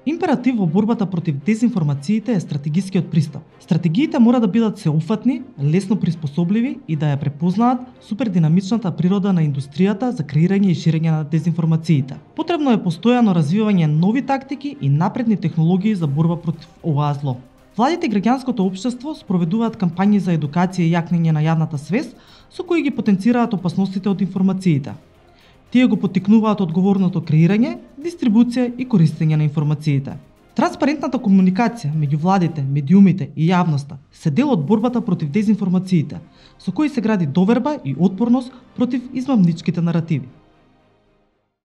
Императив во борбата против дезинформациите е стратегискиот пристап. Стратегиите мора да бидат сеопфатни, лесно приспособливи и да ја препознаат супердинамичната природа на индустријата за креирање и ширење на дезинформациите. Потребно е постојано развивање нови тактики и напредни технологии за борба против оваа зло. Владите и граѓанското општество спроведуваат кампањи за едукација и јакнење на јавната свест, со кои ги потенцираат опасностите од информациите. Тие го поттикнуваат одговорното креирање, дистрибуција и користење на информациите. Транспарентната комуникација меѓу владите, медиумите и јавноста се дел од борбата против дезинформациите, со кои се гради доверба и отпорност против измамничките наративи.